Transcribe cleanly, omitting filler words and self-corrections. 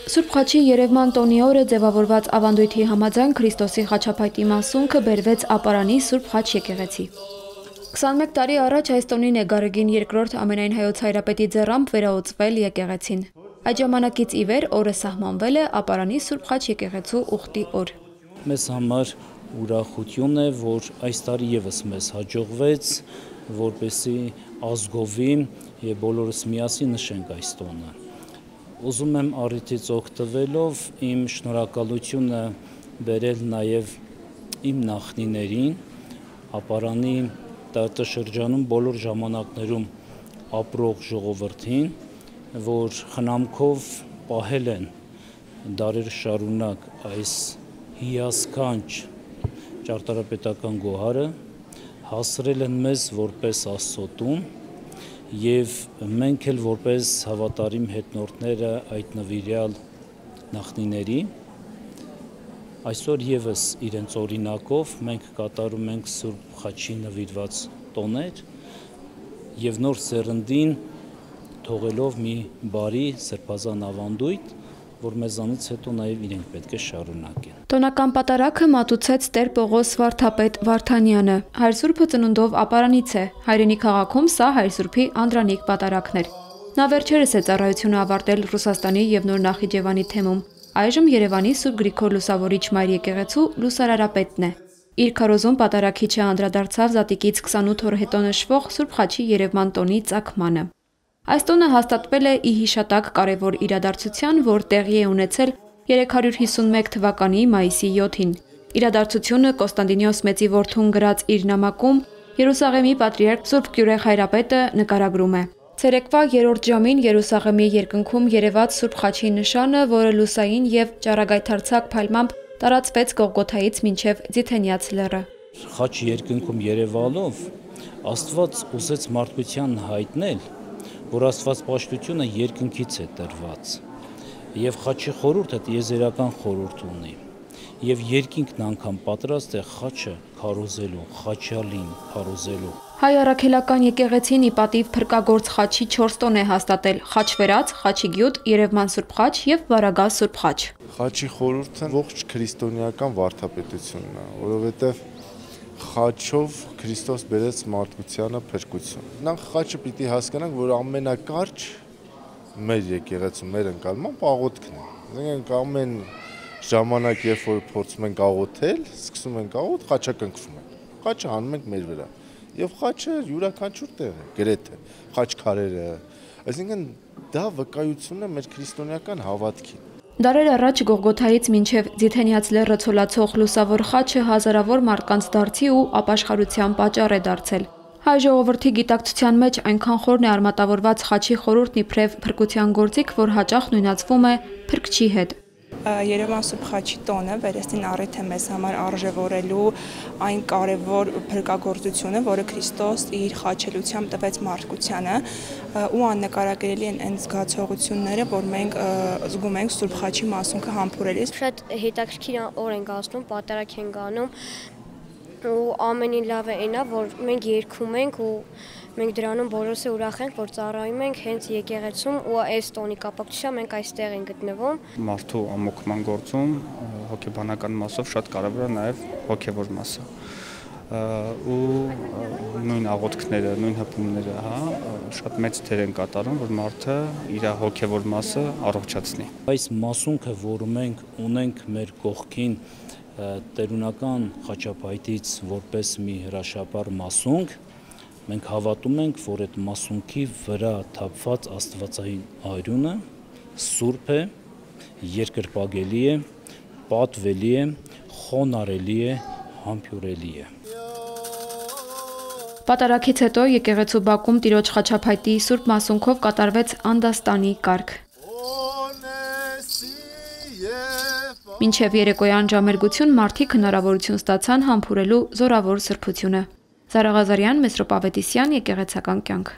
Սուրբ Խաչի երևման տոնի օրը ձևավորված ավանդույթի համաձայն Քրիստոսի խաչափայտի մասունքը բերվեց Ապարանի Սուրբ Խաչ եկեղեցի։ 21 տարի առաջ այս տոնին է Գարեգին II ամենայն հայոց հայրապետի ձեռամբ վերահսկվել եկեղեցին։ Այդ ժամանակից ի վեր օրը սահմանվել է Ապարանի Սուրբ Խաչ եկեղեցու ուխտի օր։ Մեզ համար ուրախություն է, որ այս տարի եւս մեզ հաջողվեց, որպեսզի ազգովի եւ բոլորս միասին նշենք այս տոնը։ Ուզում եմ առիթից օգտվելով իմ շնորհակալությունը բերել նաև իմ նախնիներին, Ապարանի տարածաշրջանում բոլոր ժամանակներում ապրող ժողովրդին, որ խնամքով պահել են դարեր շարունակ այս հիասքանչ ճարտարապետական գոհարը, հասրել են մեզ որպես Աստծո տուն, և մենք էլ որպես հավատարիմ հետնորդները այդ նվիրյալ նախնիների, այսօր եւս իրենց օրինակով մենք կատարում ենք Սուրբ Խաչի նվիրված տոներ եւ նոր սերնդին թողելով մի բարի սրբազան ավանդույթ, որ մեզանից հետո նաև իրենք պետք է շարունակեն։ Տոնական պատարագը մատուցեց Տեր Պողոս վարդապետ Վարդանյանը։ Հայր Սուրբը ծնունդով Ապարանից է։ Հայրենի քաղաքում սա Հայր Սուրբի անդրանիկ պատարագն էր։ Նա վերջերս է ծառայությունը ավարտել Ռուսաստանի եւ Նոր Նախիջևանի թեմում։ Այժմ Երևանի Սուրբ Գրիգոր Լուսավորիչ Մայր եկեղեցու լուսարարապետն է։ Իր քարոզում պատարագիչը անդրադարձավ Զատիկից 28 օր հետո նշվող Սուրբ Խաչի երևման տոնի ծագմանը։ Այս տոնը հաստատվել է ի հիշատակ կարևոր իրադարձության, որ տեղի է ունեցել 351 թվականի մայիսի 7-ին։ Իրադարձությունը Կոստանդինոս Մեծի որդուն գրած իր նամակում Երուսաղեմի պատրիարք Սուրբ Գյուրեղ հայրապետը նկարագրում է։ Ցերեկվա 3-րդ ժամին Երուսաղեմի երկնքում երևաց Սուրբ Խաչի նշանը, որը լուսային եւ ճառագայթարձակ փայլմամբ տարածվեց Գողգոթայից մինչև Ձիթենյաց լեռը։ Խաչ երկնքում երևալով Աստված ուզեց մարդկության հայտնել, որ աստվածպաշտությունը երկնքից է տրված, եւ խաչի խորհուրդը տիեզերական խորհուրդ ունի, եւ երկինքն անգամ պատրաստ է խաչը քարոզելու, խաչյալին քարոզելու։ Հայ առաքելական եկեղեցին ի պատիվ փրկագործ խաչի 4 տոն է հաստատել՝ խաչվերած, խաչի գյուտ, Երևման Սուրբ Խաչ եւ Վարագա Սուրբ Խաչ։ Խաչի խորհուրդը ողջ քրիստոնեական վարդապետությունն է, որովհետեւ խաչով Քրիստոս բերեց մարդկությանը փրկություն։ Նախ խաչը պիտի հասկանանք, որ ամենակարճ մեր եկեղեցու մեր ընկալմամբ աղոթքն է։ Այսինքն ամեն ժամանակ, երբ որ փորձում ենք աղոթել, սկսում ենք աղոթ, խաչակնքվում ենք։ Խաչը հանում ենք մեր վրա։ Եվ խաչը յուրաքանչյուր տեղ է, գրեթե խաչքարերը։ Այսինքն դա վկայություն է մեր քրիստոնեական հավատքի։ Դարեր առաջ Գողգոթայից մինչև Ձիթենյաց լեռը ցոլացող լուսավոր խաչը հազարավոր մարդկանց դարձի ու ապաշխարության պատճառ է դարձել։ Հայ ժողովրդի գիտակցության մեջ այնքան խորն է արմատավորված խաչի խորհուրդն իբրև փրկության գործիք, որ հաճախ նույնացվում է փրկչի հետ։ Երևան Սուրբ Խաչի տոնը վերստին առիթ է մեզ համար արժևորելու այն կարևոր փրկagorցությունը, որը Քրիստոս իր խաչելությամբ տվեց մարդկությանը, ու աննկարագրելի են այն զգացողությունները, որ մենք զգում ենք Սուրբ Խաչի մասունքը համբուրելիս։ Շատ հետաքրքիր օր ենք անցնում, պատարագ ենք անում, ու ամենին լավը այն է, որ մենք երգում ենք ու մենք դրանում բոլորս ուրախ ենք, որ ծառայում ենք հենց եկեղեցում ու այս տոնի կապակցությամբ մենք այստեղ ենք գտնվում։ Մարդու ամոքման գործում հոգեբանական մասով շատ կարևոր է նաև հոգևոր մասը։ Ու նույն աղոթքները, նույն հպումները, շատ մեծ դեր են կատարում, որ մարդը իր հոգևոր մասը առողջացնի։ Այս մասունքը, որ մենք ունենք մեր կողքին տերունական խաչապայտից որպես մի հրաշապար մասունք, մենք հավատում ենք, որ այդ մասունքի վրա թափված աստվածային արյունը սուրբ է, երկրպագելի է, պատվելի է, խոնարհելի է, համբուրելի է։ Պատարագից հետո եկեղեցու բակում Տիրոջ խաչափայտի Սուրբ մասունքով կատարվեց անդաստանի կարգ։ Մինչև երեկոյան ժամերգություն մարդիկ հնարավորություն ստացան համբուրելու զորավոր սրբությունը։ Զարա Ղազարյան, Մեսրոպ Ավետիսյան, եկեղեցական կյանք։